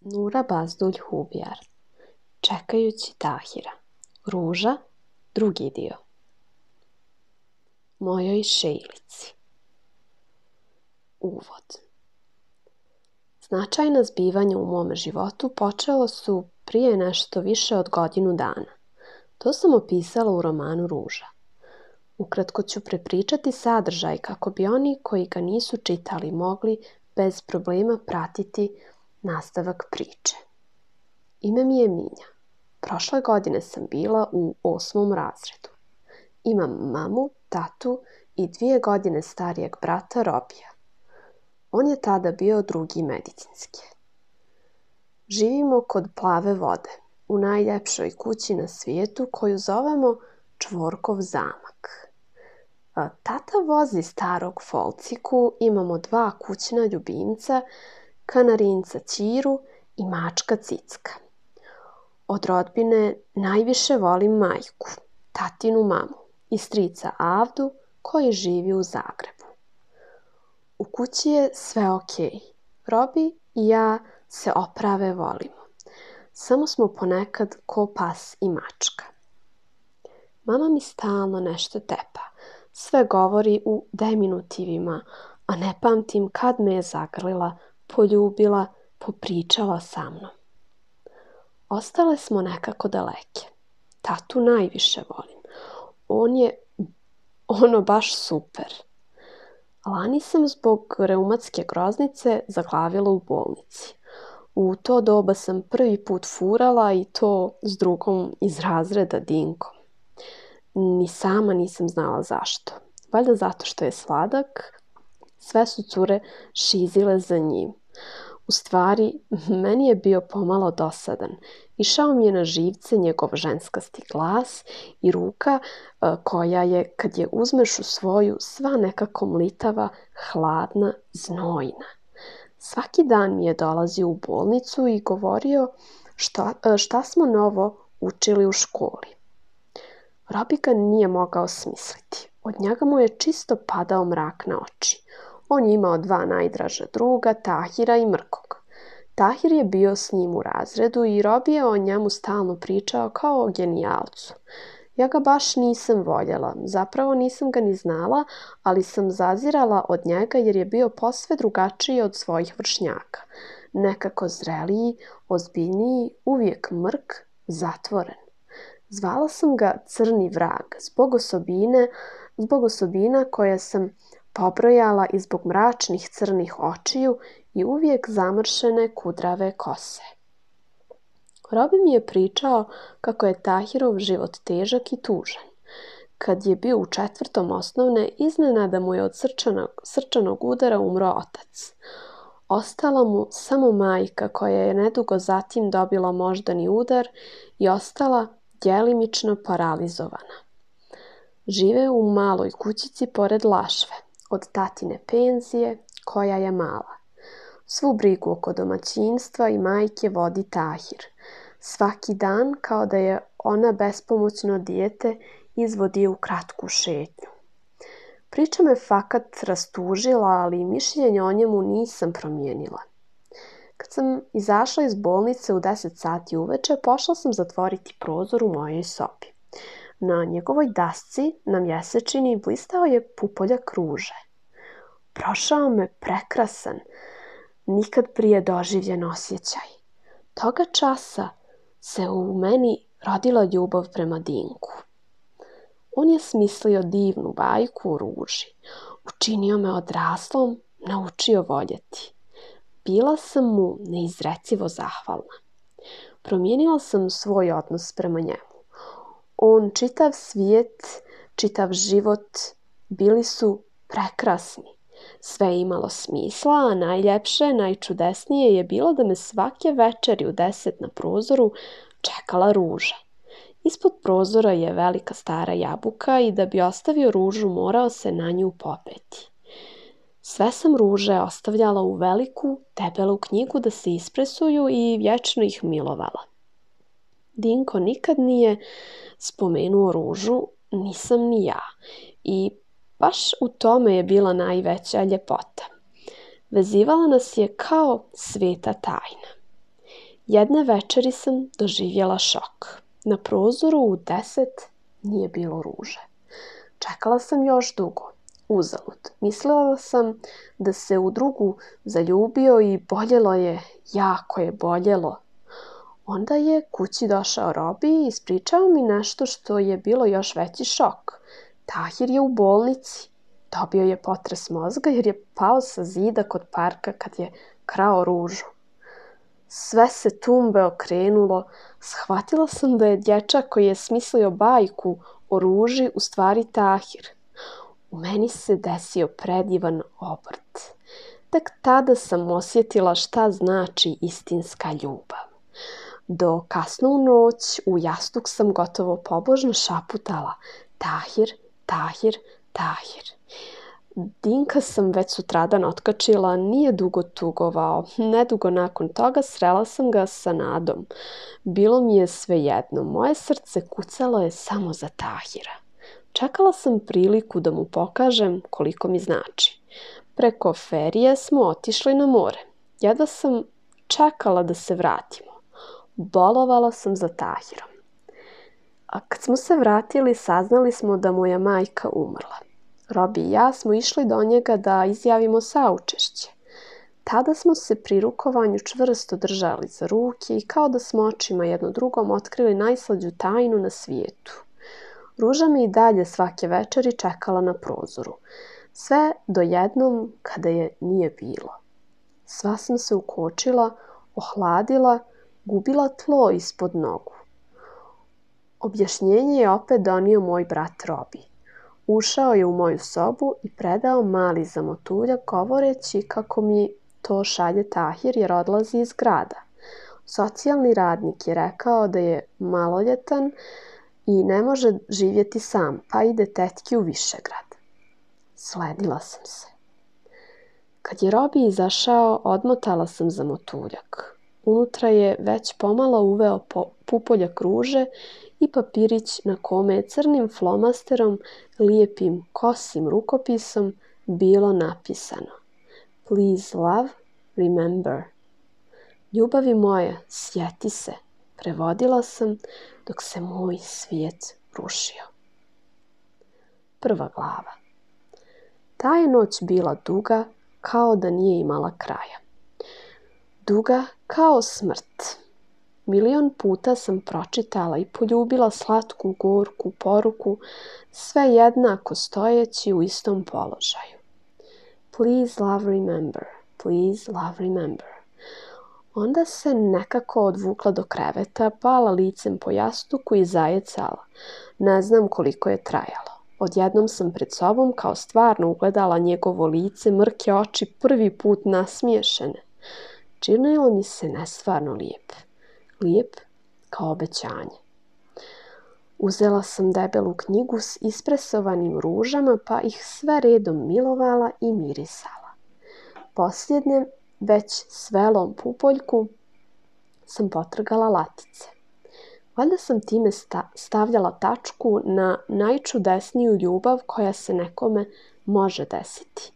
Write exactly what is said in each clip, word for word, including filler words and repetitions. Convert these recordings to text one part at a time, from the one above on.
Nura Bazdulj Hubjar, Čekajući Tahira, Ruža, drugi dio. Mojoj Šejlici. Uvod. Značajna zbivanja u mome životu počela su prije nešto više od godinu dana. To sam opisala u romanu Ruža. Ukratko ću prepričati sadržaj kako bi oni koji ga nisu čitali mogli bez problema pratiti nastavak priče. Ime mi je Minja. Prošle godine sam bila u osmom razredu. Imam mamu, tatu i dvije godine starijeg brata Robija. On je tada bio drugi medicinski. Živimo kod Plave vode, u najljepšoj kući na svijetu koju zovemo Čvorkov zamak. Tata vozi starog Folciku, imamo dva kućna ljubimca, kanarinca Ćiru i mačka Cicka. Od rodbine najviše volim majku, tatinu mamu i strica Avdu koji živi u Zagrebu. U kući je sve okej. Robi i ja se oprave volimo. Samo smo ponekad ko pas i mačka. Mama mi stalno nešto tepa. Sve govori u deminutivima, a ne pamtim kad me je zagrlila, poljubila, popričala sa mnom. Ostale smo nekako daleke. Tatu najviše volim. On je ono baš super. Lani sam zbog reumatske groznice zaglavila u bolnici. U to doba sam prvi put furala i to s drugom iz razreda Dinkom. Ni sama nisam znala zašto. Valjda zato što je sladak, sve su cure šizile za njim. U stvari, meni je bio pomalo dosadan. Išao mi je na živce njegov ženskasti glas i ruka koja je, kad je uzmeš u svoju, sva nekako mlitava, hladna, znojna. Svaki dan mi je dolazio u bolnicu i govorio šta, šta smo novo učili u školi. Robi ga nije mogao smisliti. Od njega mu je čisto padao mrak na oči. On je imao dva najdraža druga, Tahira i Mrkog. Tahir je bio s njim u razredu i Robi je o njemu stalno pričao kao o genijalcu. Ja ga baš nisam voljela, zapravo nisam ga ni znala, ali sam zazirala od njega jer je bio posve drugačiji od svojih vršnjaka. Nekako zreliji, ozbiljniji, uvijek mrk, zatvoren. Zvala sam ga Crni vrag zbog osobine, zbog osobina koje sam pobrojala i zbog mračnih crnih očiju i uvijek zamršene kudrave kose. Robi mi je pričao kako je Tahirov život težak i tužan. Kad je bio u četvrtom osnovne, iznenada mu je od srčanog, srčanog udara umro otac. Ostala mu samo majka koja je nedugo zatim dobila moždani udar i ostala djelimično paralizovana. Žive u maloj kućici pored Lašve, od tatine penzije, koja je mala. Svu brigu oko domaćinstva i majke vodi Tahir. Svaki dan, kao da je ona bespomoćno dijete, izvodi u kratku šetnju. Priča me fakat rastužila, ali mišljenje o njemu nisam promijenila. Kad sam izašla iz bolnice u deset sati uveče, pošla sam zatvoriti prozor u mojoj sobi. Na njegovoj dasci na mjesečini blistao je pupoljak ruže. Prošao me prekrasan, nikad prije doživljen osjećaj. Toga časa se u meni rodila ljubav prema Dinku. On je smislio divnu bajku o ruži, učinio me odraslom, naučio voljeti. Bila sam mu neizrecivo zahvalna. Promijenila sam svoj odnos prema njemu. On, čitav svijet, čitav život bili su prekrasni. Sve je imalo smisla, a najljepše, najčudesnije je bilo da me svake večeri u deset na prozoru čekala ruža. Ispod prozora je velika stara jabuka i da bi ostavio ružu morao se na nju popeti. Sve sam ruže ostavljala u veliku, debelu knjigu da se ispresuju i vječno ih milovala. Dinko nikad nije spomenuo ružu, nisam ni ja. I baš u tome je bila najveća ljepota. Vezivala nas je kao sveta tajna. Jedne večeri sam doživjela šok. Na prozoru u deset nije bilo ruže. Čekala sam još dugo. Uzalud. Mislila sam da se u drugu zaljubio i boljelo je, jako je boljelo. Onda je kući došao Robi i ispričao mi nešto što je bilo još veći šok. Tahir je u bolnici. Dobio je potres mozga jer je pao sa zida kod parka kad je krao ružu. Sve se tumbe okrenulo. Shvatila sam da je dječak koji je smislio bajku o ruži u stvari Tahir. U meni se desio predivan obrt. Tek tada sam osjetila šta znači istinska ljubav. Do kasno u noć u jastuk sam gotovo pobožno šaputala Tahir, Tahir, Tahir. Dinka sam već sutradan otkačila, nije dugo tugovao. Nedugo nakon toga srela sam ga sa Nadom. Bilo mi je svejedno, moje srce kucalo je samo za Tahira. Čekala sam priliku da mu pokažem koliko mi znači. Preko ferije smo otišli na more. Jedva sam čekala da se vratimo. Bolovala sam za Tahirom. A kad smo se vratili, saznali smo da moja majka umrla. Robi i ja smo išli do njega da izjavimo saučešće. Tada smo se pri rukovanju čvrsto držali za ruke i kao da smo očima jedno drugom otkrili najslađu tajnu na svijetu. Ruža me i dalje svake večeri čekala na prozoru. Sve do jednom kada je nije bilo. Sva sam se ukočila, ohladila, gubila tlo ispod nogu. Objašnjenje je opet donio moj brat Robi. Ušao je u moju sobu i predao mali zamotuljak govoreći kako mi to šalje Tahir jer odlazi iz grada. Socijalni radnik je rekao da je maloljetan i ne može živjeti sam, pa ide tetki u Višegrad. Sledila sam se. Kad je Robi izašao, odmotala sam zamotuljak. Unutra je već pomalo uveo pupoljak ruže i papirić na kome je crnim flomasterom, lijepim kosim rukopisom bilo napisano Please love, remember. Ljubavi moja, sjeti se, prevodila sam dok se moj svijet rušio. Prva glava. Ta je noć bila duga kao da nije imala kraja. Duga kao smrt. Milion puta sam pročitala i poljubila slatku, gorku poruku, sve jednako stojeći u istom položaju. Please love remember, please love remember. Onda se nekako odvukla do kreveta, pala licem po jastuku i zajecala. Ne znam koliko je trajalo. Odjednom sam pred sobom kao stvarno ugledala njegovo lice, mrke oči, prvi put nasmiješene. Činilo mi se nestvarno lijep. Lijep kao obećanje. Uzela sam debelu knjigu s ispresovanim ružama pa ih sve redom milovala i mirisala. Posljednje, već svelom pupoljku, sam potrgala latice. Valjda sam time stavljala tačku na najčudesniju ljubav koja se nekome može desiti.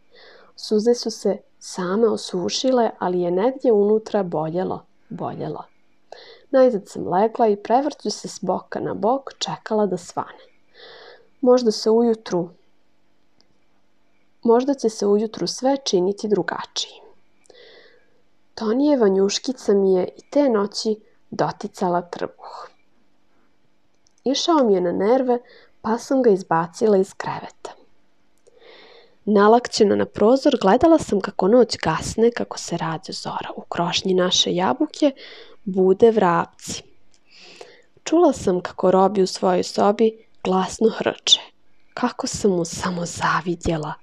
Suze su se same osušile, ali je negdje unutra boljelo, boljelo. Najzad sam legla i prevrću se s boka na bok čekala da svane. Možda se ujutru, možda će se ujutru sve činiti drugačije. Tonijeva njuškica mi je i te noći doticala trbuh. Išao mi je na nerve, pa sam ga izbacila iz kreveta. Nalakćena na prozor, gledala sam kako noć gasne, kako se rađa zora. U krošnji naše jabuke bude vrapci. Čula sam kako Robi u svojoj sobi glasno hrče. Kako sam mu samo zavidjela.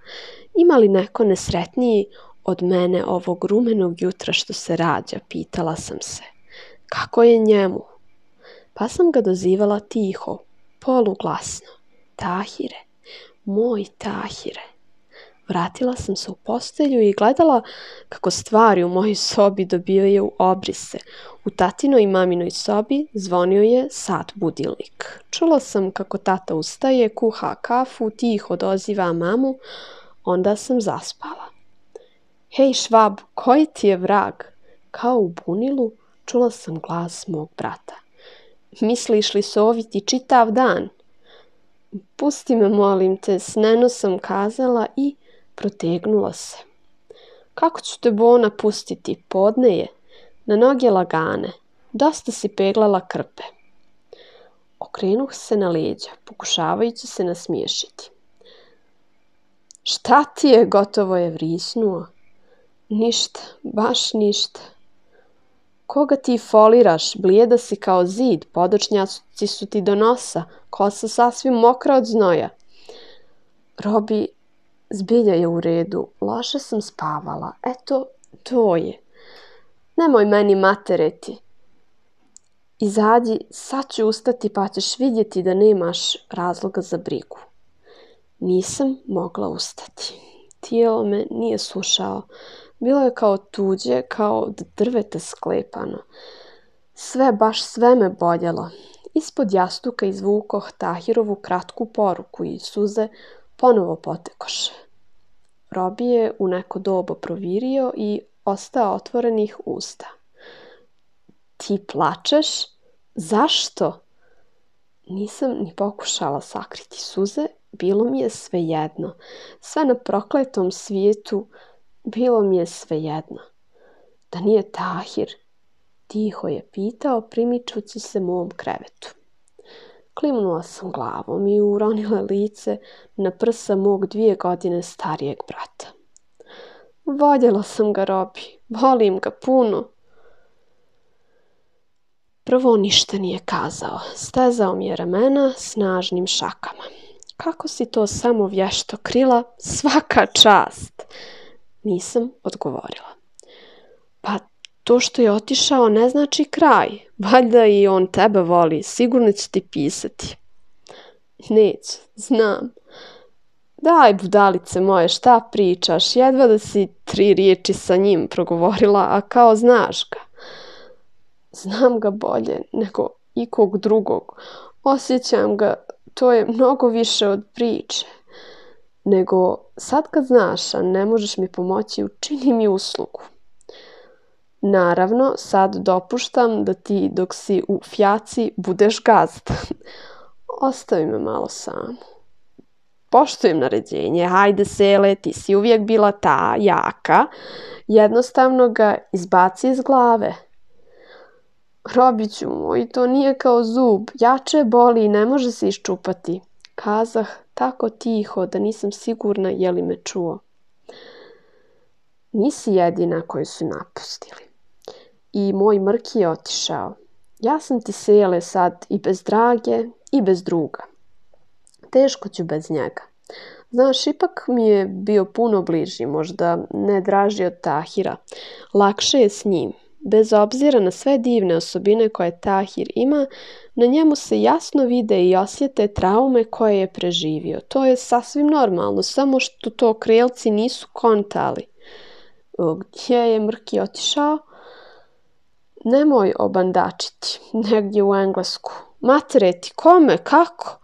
Ima li neko nesretniji od mene ovog rumenog jutra što se rađa, pitala sam se. Kako je njemu? Pa sam ga dozivala tiho, poluglasno. Tahire, moj Tahire. Vratila sam se u postelju i gledala kako stvari u mojoj sobi dobivaju obrise. U tatinoj i maminoj sobi zvonio je sat budilnik. Čula sam kako tata ustaje, kuha kafu, tiho doziva mamu, onda sam zaspala. Hej švab, koji ti je vrag? Kao u bunilu čula sam glas mog brata. Misliš li soviti čitav dan? Pusti me, molim te, sneno sam kazala i protegnula se. Kako ću te, Bona, pustiti? Podne je. Na noge lagane. Dosta si peglala krpe. Okrenuh se na leđa, pokušavajući se nasmiješiti. Šta ti je? Gotovo je vrisnuo. Ništa, baš ništa. Koga ti foliraš? Blijeda si kao zid, podočnjaci su ti do nosa, kosa sasvim mokra od znoja. Robi, zbilja je u redu, loše sam spavala, eto, to je. Nemoj meni matereti. Izađi, sad ću ustati pa ćeš vidjeti da nemaš razloga za brigu. Nisam mogla ustati. Tijelo me nije slušao. Bilo je kao tuđe, kao od drveta sklepano. Sve, baš sve me boljelo. Ispod jastuka izvukoh Tahirovu kratku poruku i suze ponovo potekoše. Robi je u neko doba provirio i ostao otvorenih usta. Ti plačeš? Zašto? Nisam ni pokušala sakriti suze, bilo mi je svejedno. Sve na prokletom svijetu bilo mi je svejedno. Da nije Tahir? Tiho je pitao, primičući se mom krevetu. Klimnula sam glavom i uronila lice na prsa mog dvije godine starijeg brata. Voljela sam ga, Robi, volim ga puno. Prvo ništa nije kazao, stezao mi je ramena snažnim šakama. Kako si to samo vješto krila, svaka čast! Nisam odgovorila. Pa to što je otišao ne znači kraj. Valjda i on tebe voli, sigurno će ti pisati. Neće, znam. Daj, budalice moje, šta pričaš? Jedva da si tri riječi sa njim progovorila, a kao znaš ga. Znam ga bolje nego ikog drugog. Osjećam ga, to je mnogo više od priče. Nego sad kad znaš, a ne možeš mi pomoći, učini mi uslugu. Naravno, sad dopuštam da ti dok si u fjaci budeš gazda. Ostavi me malo samu. Poštujem naređenje, hajde Sele, ti si uvijek bila ta jaka. Jednostavno ga izbaci iz glave. Robiću moj, to nije kao zub, jače boli i ne može se iščupati. Kazah tako tiho da nisam sigurna je li me čuo. Nisi jedina koju su napustili. I moj Mrki je otišao. Ja sam ti, Sele, sad i bez Drage i bez druga. Teško ću bez njega. Znaš, ipak mi je bio puno bliži, možda ne draži od Tahira. Lakše je s njim. Bez obzira na sve divne osobine koje Tahir ima, na njemu se jasno vide i osjete traume koje je preživio. To je sasvim normalno, samo što to krelci nisu kontali. Gdje je Mrki otišao? Nemoj obandačiti, negdje u Englesku. Matereti, kome, kako?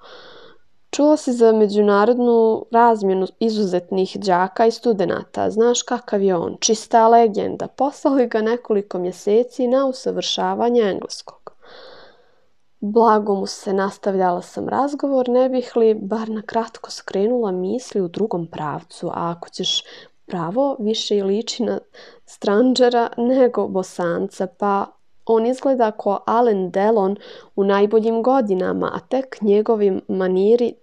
Čuo si za međunarodnu razmjenu izuzetnih đaka i studenata. Znaš kakav je on, čista legenda. Poslali ga nekoliko mjeseci na usavršavanje engleskog. Blago mu se, nastavljala sam razgovor, ne bih li bar na kratko skrenula misli u drugom pravcu, a ako ćeš pravo, više i liči na stranđera nego Bosanca, pa on izgleda ko Alain Delon u najboljim godinama, a tek njegovi maniri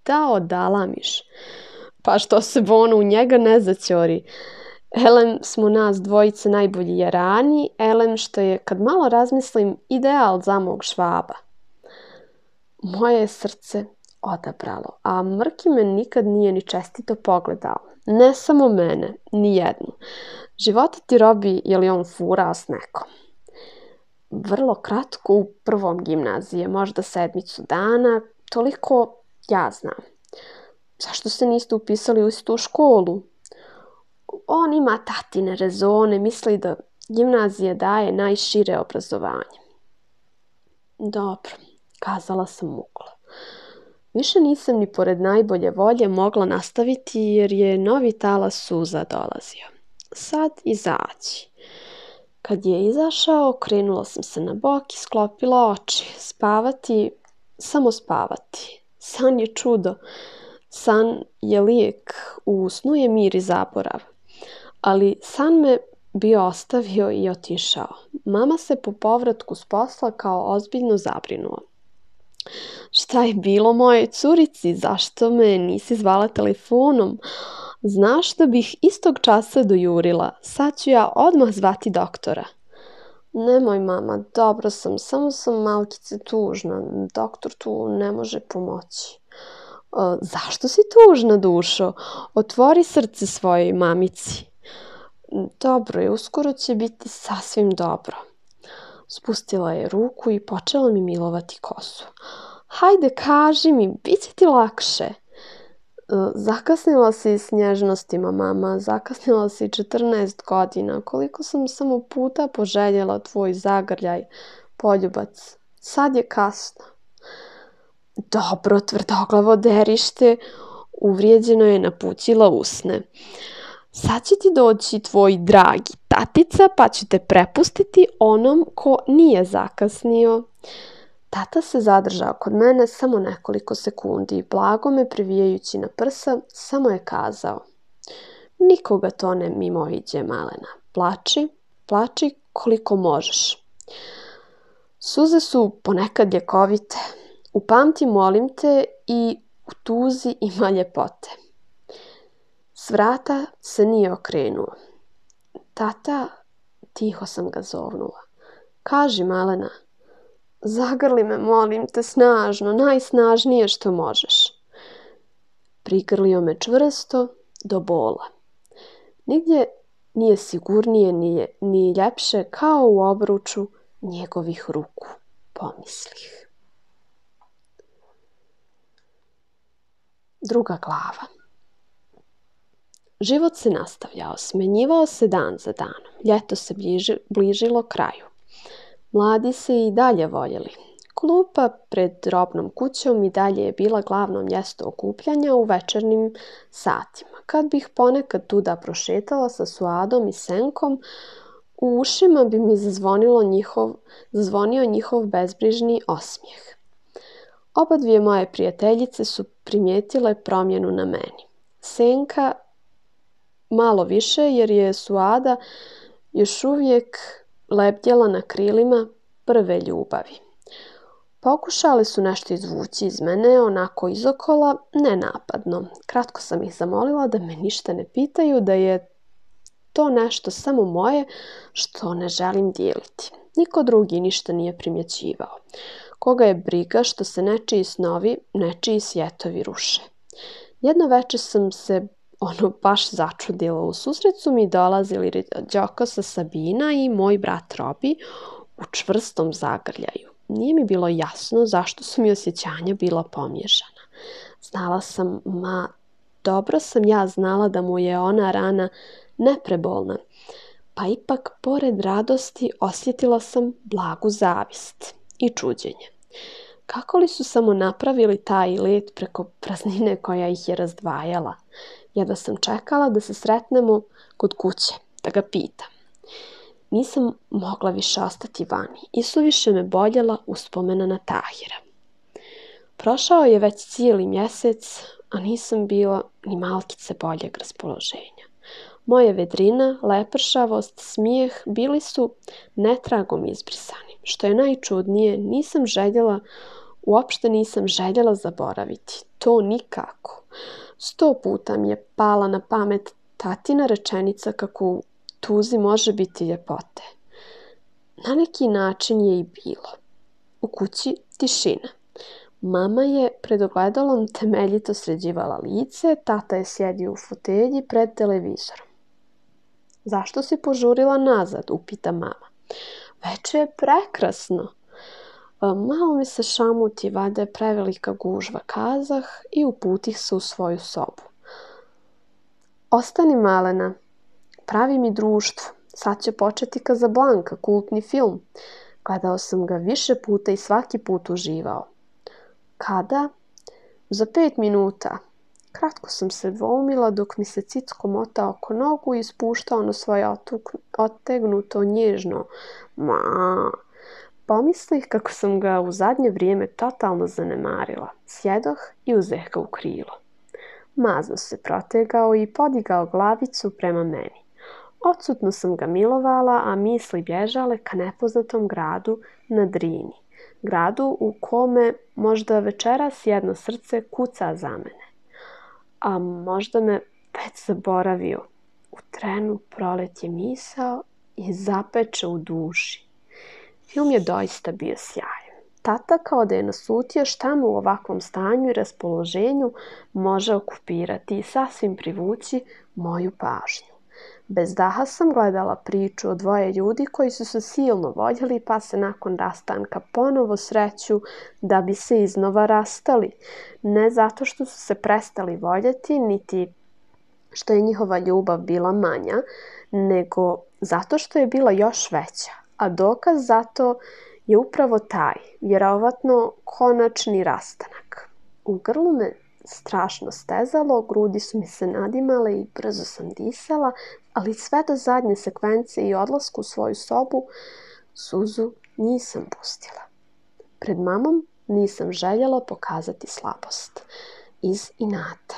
da odalamiš. Pa što se Bono u njega ne zaćori. Elem smo nas dvojice najbolji jarani, elem što je, kad malo razmislim, ideal za mog Švaba. Moje je srce odabralo, a Mrki me nikad nije ni čestito pogledao. Ne samo mene, ni jednu. Života ti, Robi, je li on furao s nekom? Vrlo kratko u prvom gimnazije, možda sedmicu dana, toliko ja znam. Zašto se niste upisali u istu školu? On ima tatine rezone, misli da gimnazija daje najšire obrazovanje. Dobro, kazala sam muklo. Više nisam ni pored najbolje volje mogla nastaviti jer je novi talas suza dolazio. Sad izaći. Kad je izašao, okrenula sam se na bok i sklopila oči. Spavati, samo spavati. San je čudo. San je lijek. U snu je mir i zaborav. Ali san me bio ostavio i otišao. Mama se po povratku s posla kao ozbiljno zabrinula. Šta je bilo mojoj curici? Zašto me nisi zvala telefonom? Znaš da bih istog časa dojurila. Sad ću ja odmah zvati doktora. Nemoj, mama, dobro sam, samo sam malkice tužna. Doktor tu ne može pomoći. E, zašto si tužna, dušo? Otvori srce svojoj mamici. Dobro je, uskoro će biti sasvim dobro. Spustila je ruku i počela mi milovati kosu. Hajde, kaži mi, bit će ti lakše. Zakasnila si s nježnostima, mama, zakasnila si četrnaest godina. Koliko sam samo puta poželjela tvoj zagrljaj, poljubac. Sad je kasno. Dobro, tvrdoglavo derište, uvrijeđeno je napućila usne. Sad će ti doći tvoj dragi tatica, pa ću te prepustiti onom ko nije zakasnio. Tata se zadržao kod mene samo nekoliko sekundi i blago me privijajući na prsa, samo je kazao. Nikoga to ne mimoiđe, malena. Plači, plači koliko možeš. Suze su ponekad ljekovite. Upamti, molim te, i u tuzi ima ljepote. S vrata se nije okrenuo. Tata, tiho sam ga zovnula. Kaži, malena. Zagrli me, molim te, snažno, najsnažnije što možeš. Prigrlio me čvrsto do bola. Nigdje nije sigurnije ni, ni ljepše kao u obruču njegovih ruku, pomislih. Druga glava. Život se nastavljao, smenjivao se dan za danom. Ljeto se bliži, bližilo kraju. Mladi se i dalje voljeli. Klupa pred robnom kućom i dalje je bila glavno mjesto okupljanja u večernjim satima. Kad bih ponekad tuda prošetala sa Suadom i Senkom, u ušima bi mi zazvonilo njihov, zazvonio njihov bezbrižni osmijeh. Oba dvije moje prijateljice su primijetile promjenu na meni. Senka malo više jer je Suada još uvijek lebdjela na krilima prve ljubavi. Pokušale su nešto izvući iz mene, onako izokola, nenapadno. Kratko sam ih zamolila da me ništa ne pitaju, da je to nešto samo moje što ne želim dijeliti. Niko drugi ništa nije primjećivao. Koga je briga što se nečiji snovi, nečiji svjetovi ruše. Jedno večer sam se ono baš začudila. U susret su mi dolazili Đokosa Sabina i moj brat Robi u čvrstom zagrljaju. Nije mi bilo jasno zašto su mi osjećanja bila pomiješana. Znala sam, ma dobro sam ja znala da mu je ona rana neprebolna, pa ipak pored radosti osjetila sam blagu zavist i čuđenje. Kako li su samo napravili taj let preko praznine koja ih je razdvajala? Jedva sam čekala da se sretnemo kod kuće, da ga pitam. Nisam mogla više ostati vani i suviše me boljela uspomena na Tahira. Prošao je već cijeli mjesec, a nisam bila ni malkice boljeg raspoloženja. Moje vedrina, lepršavost, smijeh bili su netragom izbrisani. Što je najčudnije, nisam željela, uopšte nisam željela zaboraviti. To nikako. Sto puta mi je pala na pamet tatina rečenica kako u tuzi može biti ljepote. Na neki način je i bilo. U kući tišina. Mama je pred ogledalom temeljito sređivala lice, tata je sjedio u fotelji pred televizorom. Zašto si požurila nazad? Upita mama. Veče je prekrasno. Malo mi se šamuti, valjda je prevelika gužva, kazah i uputih se u svoju sobu. Ostani, malena, pravi mi društvo. Sad će početi Casablanca, kultni film. Gledao sam ga više puta i svaki put uživao. Kada? Za pet minuta. Kratko sam se dvoumila dok mi se Cicko mota oko nogu i spuštao na svoje otegnuto nježno ma. Pomislih kako sam ga u zadnje vrijeme totalno zanemarila. Sjedoh i uzeh ga u krilo. Mazno se protegao i podigao glavicu prema meni. Odsutno sam ga milovala, a misli bježale ka nepoznatom gradu na Drini. Gradu u kome možda večeras jedno srce kuca za mene. A možda me već zaboravio. U trenu proletje misao i zapeče u duši. Film je doista bio sjajan. Tata kao da je naslutio šta mu u ovakvom stanju i raspoloženju može okupirati i sasvim privući moju pažnju. Bez daha sam gledala priču o dvoje ljudi koji su se silno voljeli pa se nakon rastanka ponovo sreću da bi se iznova rastali. Ne zato što su se prestali voljeti, niti što je njihova ljubav bila manja, nego zato što je bila još veća. A dokaz za to je upravo taj, vjerovatno konačni rastanak. U grlu me strašno stezalo, grudi su mi se nadimale i brzo sam disala, ali sve do zadnje sekvence i odlasku u svoju sobu suzu nisam pustila. Pred mamom nisam željela pokazati slabost. Iz inata.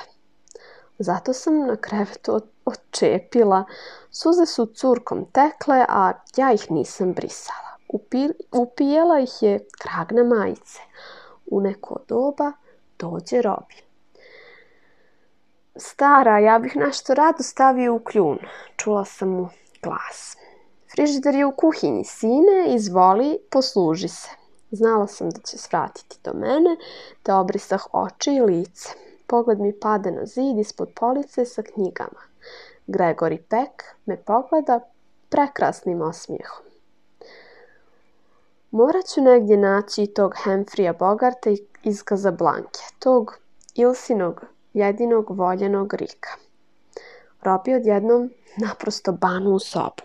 Zato sam na krevetu odčepila. Suze su curkom tekle, a ja ih nisam brisala. Upi- upijela ih je krag na majice. U neko doba dođe Robi. Stara, ja bih nešto rado stavio u kljun, čula sam mu glas. Frižider je u kuhinji, sine, izvoli, posluži se. Znala sam da će svratiti do mene, te obrisah oči i lice. Pogled mi pade na zid ispod police sa knjigama. Gregory Peck me pogleda prekrasnim osmijehom. Morat ću negdje naći tog Humphreyja Bogarta iz Kazablanke, tog Ilsinog jedinog voljenog Rika. Robi odjednom naprosto banu u sobu.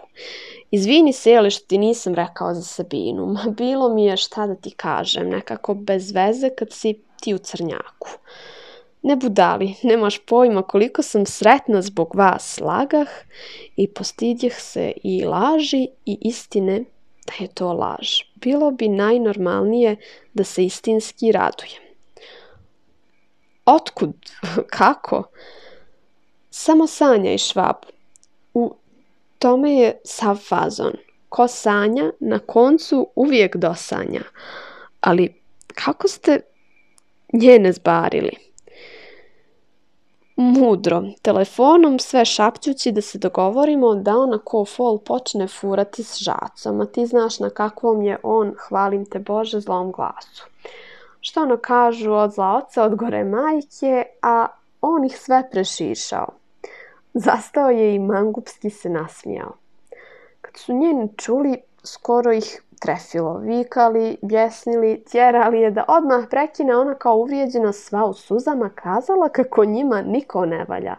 Izvini se, jeli što ti nisam rekao za Sabinu. Ma bilo mi je šta da ti kažem, nekako bez veze kad si ti u crnjaku. Ne budali, nemaš pojma koliko sam sretna zbog vas, lagah i postidjeh se i laži i istine da je to laž. Bilo bi najnormalnije da se istinski radujem. Otkud? Kako? Samo sanjaj, Švab. U tome je sav fazon. Ko sanja, na koncu uvijek dosanja. Ali kako ste njene zbarili? Mudro, telefonom sve šapćući da se dogovorimo da ona ko fol počne furati s žacom, a ti znaš na kakvom je on, hvalim te Bože, zlom glasu. Što ono kažu, od zla oca, od gore majke, a on ih sve prešišao. Zastao je i mangupski se nasmijao. Kad su njeni čuli, skoro ih trefilo, vikali, bjesnili, tjerali je da odmah prekine, ona kao uvrijeđena sva u suzama kazala kako njima niko ne valja.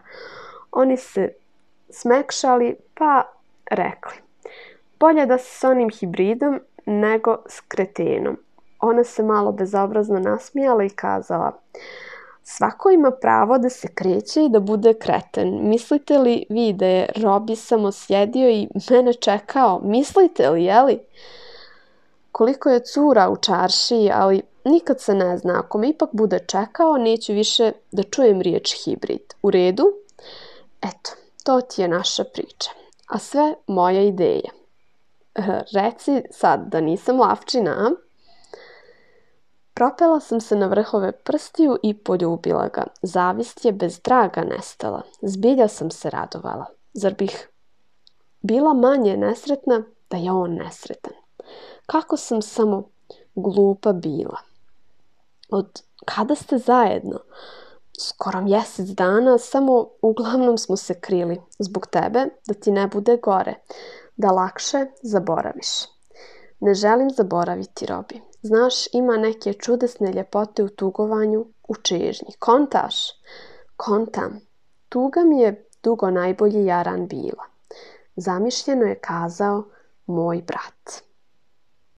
Oni se smekšali pa rekli, bolje da se s onim hibridom nego s kretenom. Ona se malo bezobrazno nasmijala i kazala, svako ima pravo da se kreće i da bude kreten. Mislite li vi da je Robi samo sjedio i mene čekao? Mislite li, jeli? Koliko je cura u čaršiji, ali nikad se ne zna. Ako me ipak bude čekao, neću više da čujem riječ hibrid. U redu? Eto, to ti je naša priča. A sve moja ideja. Reci sad da nisam lavčina, a? Propela sam se na vrhove prstiju i poljubila ga. Zavist je bez traga nestala. Zbilja sam se radovala. Zar bih bila manje nesretna da je on nesretan? Kako sam samo glupa bila. Od kada ste zajedno? Skoro mjesec dana, samo uglavnom smo se krili. Zbog tebe, da ti ne bude gore. Da lakše zaboraviš. Ne želim zaboraviti, Robi. Znaš, ima neke čudesne ljepote u tugovanju, u čežnji. Kontaš? Kontam. Tuga mi je dugo najbolji jaran bila. Zamišljeno je kazao moj brat.